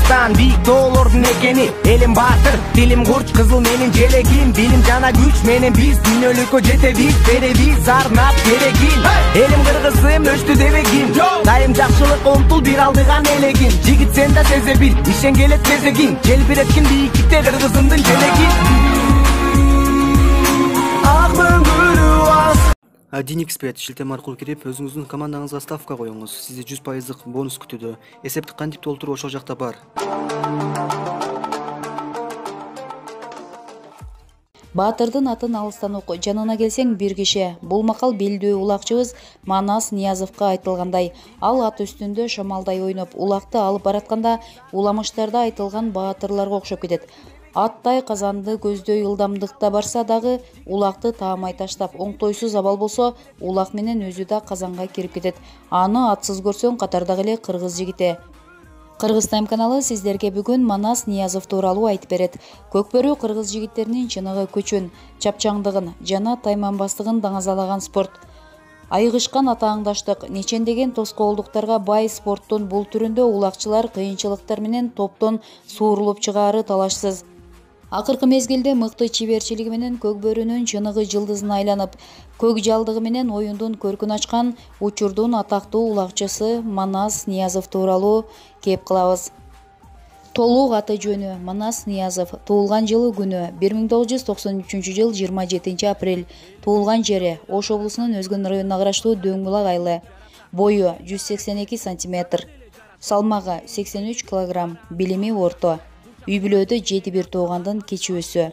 Кыргызстан бийик тоолордун экени, элим баатыр, тилим курч, кызыл менин желегим, билим жана күч менен биз дүйнөлүккө жетебиз, беребиз арнап керегин. Элим кыргызым өчтү дебегин, дайым жакшылыкка умтул бир алдыган элегин. Жигит сен да сезе бил, ишен келет кезегин, желбиреткин бийиктикте кыргызымдын желегин. Ак мөңгүлүү DinXbet шилтеме аркылуу кирип, өзүңүздүн командаңызга ставка коюңуз. Сизди 100% бонус күтүүдө. Эсепти кантип толтуруу ошол жакта бар. Баатырдын атын алыстан ук, жанына келсең бир киши. Бул макал белдүү улакчыбыз Манас Ниязовго айтылгандай. Ал ат үстүндө шамалдай ойноп, улакты алып баратканда уламыштарда айтылган баатырларга окшоп кетет. Аттай казанды көздөй ылдамдыкта барса дагы улакты таамай таштап, оңтойсуз абал болсо, улак менен өзү да казанга кирип кетет. Аны атсыз көрсөң катардагы эле кыргыз жигити. Кыргыз Тайм каналы сиздерге бүгүн Манас Ниязов тууралуу айтып берет. Көкбөрү кыргыз жигиттеринин чыныгы көчүн, чапчаңдыгын жана тайманбастыгын даңазалаган спорт. Айыгышкан атааңдаштык, нечендеген тоскоолдуктарга бай спорттун бул түрүндө улакчылар кыйынчылыктар менен топтон суурулуп чыгаары талашсыз. Акыркы мезгилде мыкты чеберчилиги менен Көкбөрүнүн чыныгы жылдызына айланып, көк жалдыгы менен оюндун көркүн ачкан учурдун атактуу улакчысы Манас Ниязов тууралуу кеп кылабыз. Толук аты жөнү Манас Ниязов, туулган жылы күнү 1993 жыл 27 апрель, туулган жери Ош облусунун Өзгөн районуна караштуу Дөң булак айылы, бою 182 сантиметр, салмагы 83 килограмм, билими орто. Үй бүлөдө 7 туугандын кечүүсү.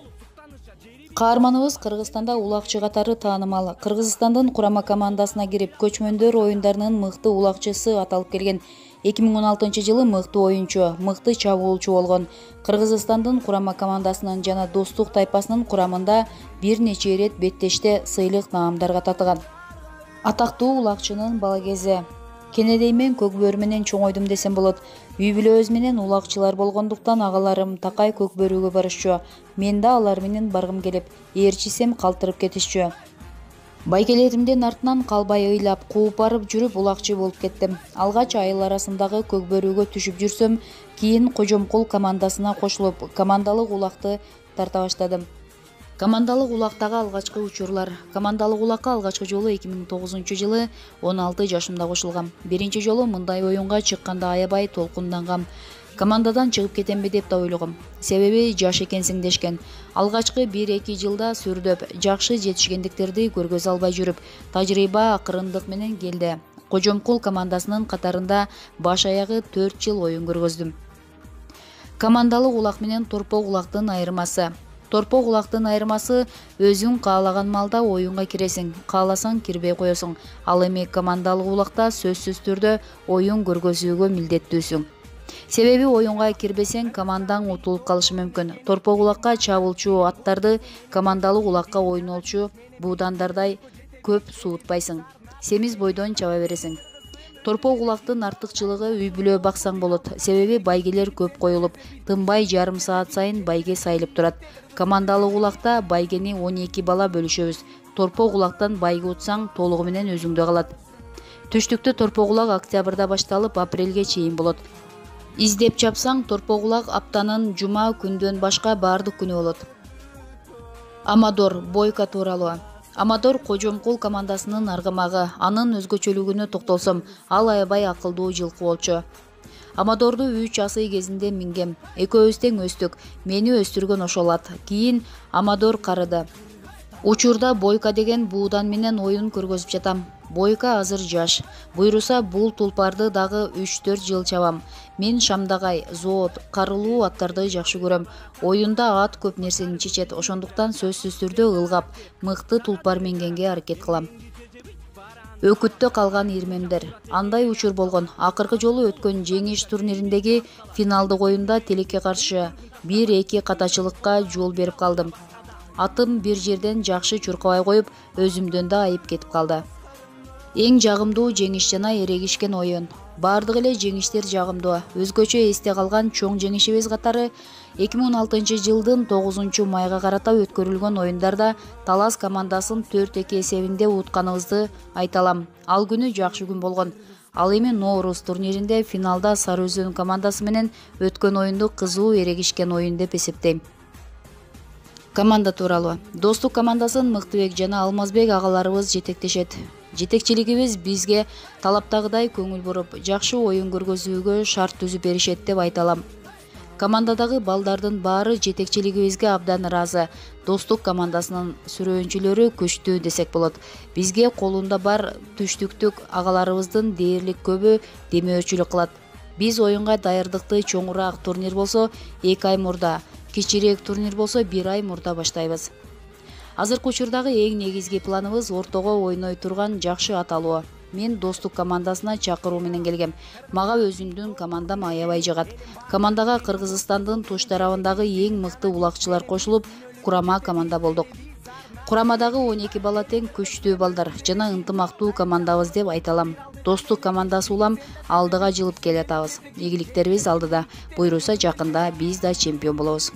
Каарманыбыз Кыргызстанда улакчы катары таанымал. Кыргызстандын курама командасына кирип, көчмөндөр оюндарынын мыкты улакчысы аталып келген. 2016 жылы мыкты оюнчу, мыкты чабуулчу болгон. Кыргызстандын курама командасынын жана достук тайпасынын курамында бир нече ирет беттеште сыйлык наамдарга татыган. Атактуу улакчынын бала кези. Кенедеймен Көкбөрү менен чоңойдум десем болот. Үй бүлөбүз менен улакчылар болгондуктан агаларым такай Көкбөрүгө барышчу. Мен да алар менен баргым келип, ээрчисем калтырып кетишчү. Байгелеримдин артынан калбай ыйлап, кууп барып жүрүп улакчы болуп кеттим. Алгач айыл арасындагы Көкбөрүгө түшүп жүрсөм, кийин Кожомкул командасына кошулуп, командалык улакты тарта баштадым. Командалык улактагы алгачкы учурлар. Командалык улакка алгачкы жолу 2009 жылы 16 жашымда кошулгам. Биринчи жолу мындай оюнга чыкканда аябай толкундангам. Командадан чыгып кетемби деп да ойлогом. Себеби жаш экенсиң дешкен. Алгачкы 1-2 жылда сүрдөп, жакшы жетишкендиктерди көргөзө албай жүрүп, тажрыйба акырындык менен келди. Кожомкул командасынын катарында баш аягы 4 жыл оюн көргөздүм. Командалык улак менен торпок улактын айырмасы. Торпок улактын айырмасы өзүң каалаган малда оюнга киресиң, кааласаң кирбей коесуң. Ал эми командалык улакта сөзсүз түрдө оюн көргөзүүгө милдеттүүсүң. Себеби оюнга кирбесең командаң утулуп калышы мүмкүн. Торпок улакка чабуулчу аттарды командалык улакка ойнолчу буудандардай көп суутпайсың. Семиз бойдон чаба бересиң. Торпок улактын артыкчылыгы үй бүлө баксаң болот. Себеби байгелер көп коюлуп, тынбай жарым саат сайын байге сайылып турат. Командалык улакта байгени 12 бала бөлүшөбүз. Торпок улактан байге утсаң толугу менен өзүңдө калат. Түштүктө торпок улак октябрда башталып апрелге чейин болот. Издеп чапсаң торпок улак аптанын жума күндөн башка баардык күнү болот. Амадор Бойко тууралуу. Амадор Кожомкул командасынын аргамагы. Анын өзгөчөлүгүнө токтолсом, ал аябай акылдуу жылкы болчу. Амадорду 3 асый кезинде мингем. Экөөбүз тең өстүк. Мени өстүргөн ошол ат. Кийин Амадор карыды. Учурда Бойко деген буудан менен оюн көргөзүп жатам. Бойко азыр жаш. Буйруса бул тулпарды дагы 3-4 жыл чабам. Мен шамдагай, зоот, карылуу аттарды жакшы көрөм. Оюнда ат көп нерсени чечет, ошондуктан сөзсүз түрдө ылгап, мыкты тулпар мингенге аракет кылам. Өкүттө калган ирмемдер. Андай учур болгон. Акыркы жолу өткөн жеңиш турнириндеги финалдык оюнда Телекке каршы 1-2 катачылыкка жол берип калдым. Атым бир жерден жакшы чуркабай коюп, өзүмдөн да айып кетип калды. Эң жагымдуу жеңиш жана эрегишкен оюн. Бардык эле жеңиштер жагымдуу. Өзгөчө эсте калган чоң жеңишибиз катары 2016 жылдын 9 майга карата өткөрүлгөн оюндарда Талас командасын 4-2 эсебинде утканыбызды айта алам. Ал күнү жакшы күн болгон. Ал эми Нооруз турниринде финалда Сары Өзөн командасы менен өткөн оюнду кызуу эрегишкен оюн деп эсептейм. Команда тууралуу. Достук командасын Мыктыбек жана Алмазбек агаларыбыз жетектешет. Жетекчилигибиз бизге талаптагыдай көңүл буруп, жакшы оюн көргөзүүгө шарт түзүп беришет деп айта алам. Командадагы балдардын баары жетекчилигибизге абдан ыраазы. Достук командасынын сүрөөнчүлөрү күчтүү десек болот. Бизге колунда бар түштүктүк агаларыбыздын дээрлик көбү демөөрчүлүк кылат. Биз оюнга даярдыкты чоңураак турнир болсо 2 ай мурда, кичирээк турнир болсо 1 ай мурда баштайбыз. Азыркы учурдагы эң негизги планыбыз ортого ойной турган жакшы ат алуу. Мен Достук командасына чакыруу менен келгем. Мага өзүмдүн командам аябай жагат. Командага Кыргызстандын туш тарабындагы эң мыкты улакчылар кошулуп, курама команда болдук. Курамадагы 12 бала тең күчтүү балдар жана ынтымактуу командабыз деп айта алам. Достук командасы улам алдыга жылып келатабыз. Ийгиликтерибиз алдыда. Буйруса жакында биз да чемпион болобуз.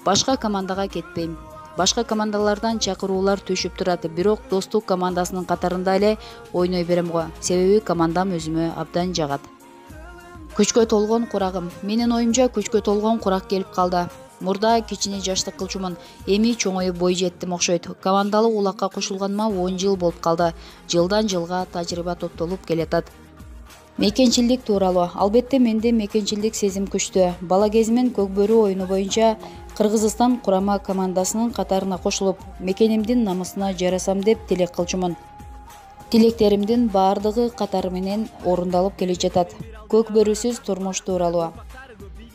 Башка командага кетпейм. Башка командалардан чакыруулар түшүп турат, бирок Достук командасынын катарында эле ойной берем го. Себеби командам өзүмө абдан жагат. Күчкө толгон курагым. Менин оюмча күчкө толгон курак келип калды. Мурда кичине жаштык кылчумун, эми чоңоюп бой жеттим окшойт. Командалык улакка кошулганыма 10 жыл болуп калды. Жылдан жылга тажрыйба топтолуп келатат. Мекенчилдик тууралуу. Албетте менде мекенчилдик сезим күчтүү. Бала кезимен Көкбөрү оюну боюнча Кыргызстан курама командасынын катарына кошулуп, мекенимдин намысына жарасам деп тилек кылчумун. Тилектеримдин баардыгы катары менен орундалып келе жатат. Көкбөрүсүз турмуш тууралуу.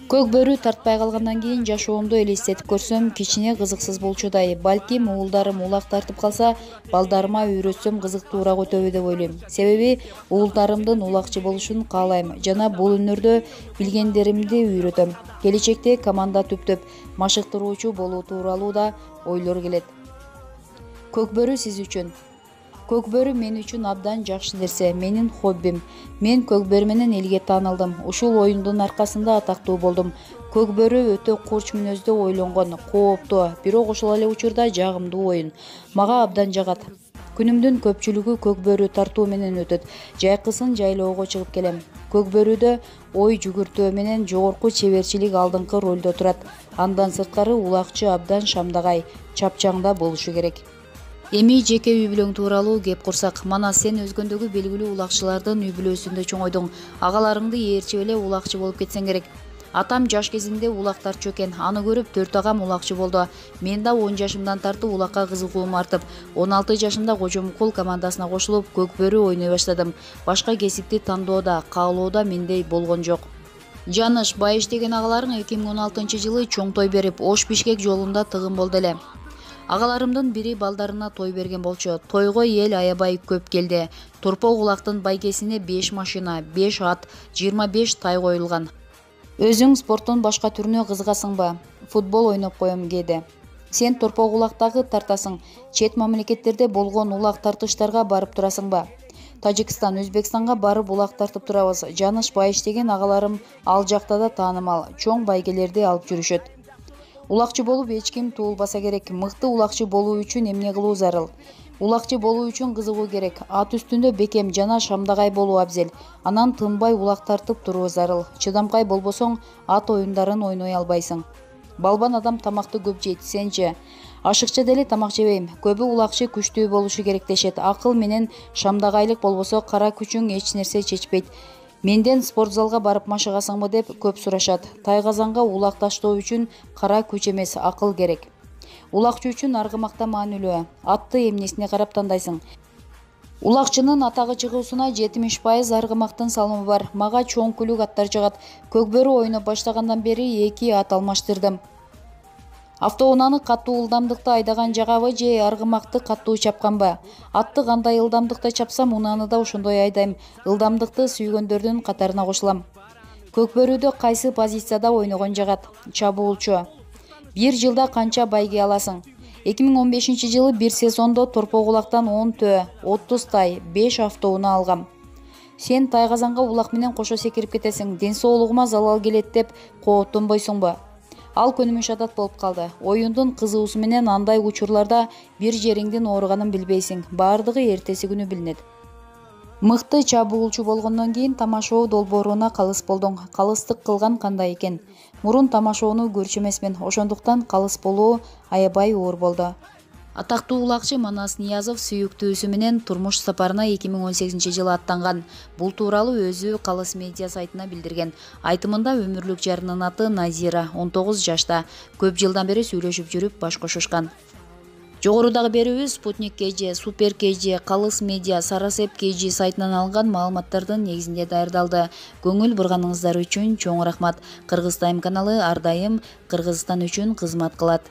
Көкбөрү тартпай калгандан кийин жашоомду элестетип көрсөм, кичине кызыксыз болчудай. Балким уулдарым улак тартып калса, балдарыма үйрөтсөм кызыктуураак өтөбү деп ойлойм. Себеби уулдарымдын улакчы болушун каалайм жана бул өнөрдө билгендеримди үйрөтөм. Келечекте команда түптөп машыктыруучу болуу тууралуу да ойлор келет. Көкбөрү сиз үчүн. Көкбөрү мен үчүн абдан жакшы нерсе, менин хоббим. Мен Көкбөрү менен элге таанылдым. Ушул оюндун аркасында атактуу болдум. Көкбөрү өтө курч мүнөздө ойлонгон, кооптуу, бирок ошол эле учурда жагымдуу оюн. Мага абдан жагат. Күнүмдүн көпчүлүгү Көкбөрү тартуу менен өтөт. Жайкысын жайлоого чыгып келем. Көкбөрүдө ой жүгүртүү менен жогорку чеберчилик алдыңкы ролдо турат. Андан сырткары улакчы абдан шамдагай, чапчаңда болушу керек. Эми жеке үй бүлөң тууралуу кеп курсак, мана сен өзгөндөгү белгилүү улакчылардын үй бүлөсүндө чоңойдуң. Агаларыңды ээрчип эле улакчы болуп кетсең керек. Атам жаш кезинде улак тартчу экен. Аны көрүп 4 агам улакчы болду. Мен да 10 жашымдан тартып улакка кызыгуум артып, 16 жашымда Кожомукул командасына кошулуп, Көкбөрү ойной баштадым. Башка кесипти тандоодо, каалоодо мендей болгон жок. Жаныш, Байыш деген агаларың 2016-жылы чоң той берип, Ош Бишкек жолунда тыгын болду эле. Агаларымдын бири балдарына той берген болчу. Тойго эл аябай көп келди. Торпок улактын байгесине 5 машина, 5 ат, 25 тай коюлган. Өзүң спорттун башка түрүнө кызыгасыңбы? Футбол ойноп коем кээде. Сен торпок улактагы тартасың. Чет мамлекеттерде болгон улак тартыштарга барып турасыңбы? Тажикстан, Өзбекстанга барып улак тартып турабыз. Жаныш, Байыш деген агаларым ал жакта да таанымал, чоң байгелерди алып жүрүшөт. Улакчы болуп эч ким туулбаса керек. Мыкты улакчы болуу үчүн эмне кылуу зарыл? Улакчы болуу үчүн кызыгуу керек. Ат үстүндө бекем жана шамдагай болуу абзел. Анан тынбай улак тартып туруу зарыл. Чыдамкай болбосоң, ат оюндарын ойной албайсың. Балбан адам тамакты көп жейт, сенчи? Ашыкча деле тамак жебейм. Көбү улакчы күчтүү болушу керек дешет. Акыл менен шамдагайлык болбосо кара күчүң эч нерсе чечпейт. Менден спорт залга барып машыгасыңбы деп көп сурашат. Тайгазанга улак таштоо үчүн кара күч эмес, акыл керек. Улакчы үчүн аргымакта маанилүү. Атты эмнесине карап тандайсың? Улакчынын атагы чыгуусуна 70% аргымактын салымы бар. Мага чоң күлүк аттар жагат. Көкбөрү ойноп баштагандан бери 2 ат алмаштырдым. Автоунааны каттуу ылдамдыкта айдаган жагабы же аргымакты каттуу чапканбы? Атты кандай ылдамдыкта чапсам, унааны да ошондой айдайм. Ылдамдыкты сүйгөндөрдүн катарына кошулам. Көкбөрүдө кайсы позицияда ойногон жагат? Чабуулчу. 1 жылда канча байге аласың? 2015-жылы бир сезондо торпок улактан 10 төө, 30 тай, 5 автоунаа алгам. Сен Тайгазанга улак менен кошо секирип кетесиң. Ден соолугума залал келет деп кооттонбойсуңбу? Ал көнүмүш адат болуп калды. Оюндун кызуусу менен андай учурларда бир жериңдин ооруганын билбейсиң. Баардыгы эртеси күнү билинет. Мыкты чабуулчу болгондон кийин тамашоо долбооруна калыс болдуң. Калыстык кылган кандай экен? Мурун тамашоону көрчү эмесмин, ошондуктан калыс болуу аябай оор болду. Атактуу улакчы Манас Ниязов сүйүктүүсү менен турмуш сапарына 2018-жылы аттанган. Бул тууралуу өзү Калыс медиа сайтына билдирген. Айтымында өмүрлүк жарынын аты Назира, 19 жашта. Көп жылдан бери сүйлөшүп жүрүп баш кошушкан. Жогорудагы берүүбүз Спутник KG, Супер KG, Калыс медиа, Сарасеп KG сайтынан алынган маалыматтардын негизинде даярдалды. Көңүл бурганыңыздар үчүн чоң рахмат. Кыргыз Тайм каналы ар дайым Кыргызстан үчүн кызмат кылат.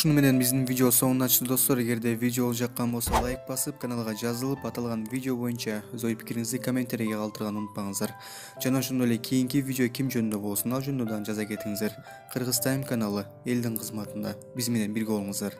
Ушуну менен биздин видео соңуна чыкты достор. Эгерде видео жаккан болсо лайк басып, каналга жазылып, аталган видео боюнча өз ой пикириңизди комментарийге калтырганды унутпаңыздар. Жана ошондой эле кийинки видео ким жөнүндө болсун ал жөнүндө дагы жаза кетиңиздер. Кыргыз Тайм каналы элдин кызматында. Биз менен бирге болуңуздар.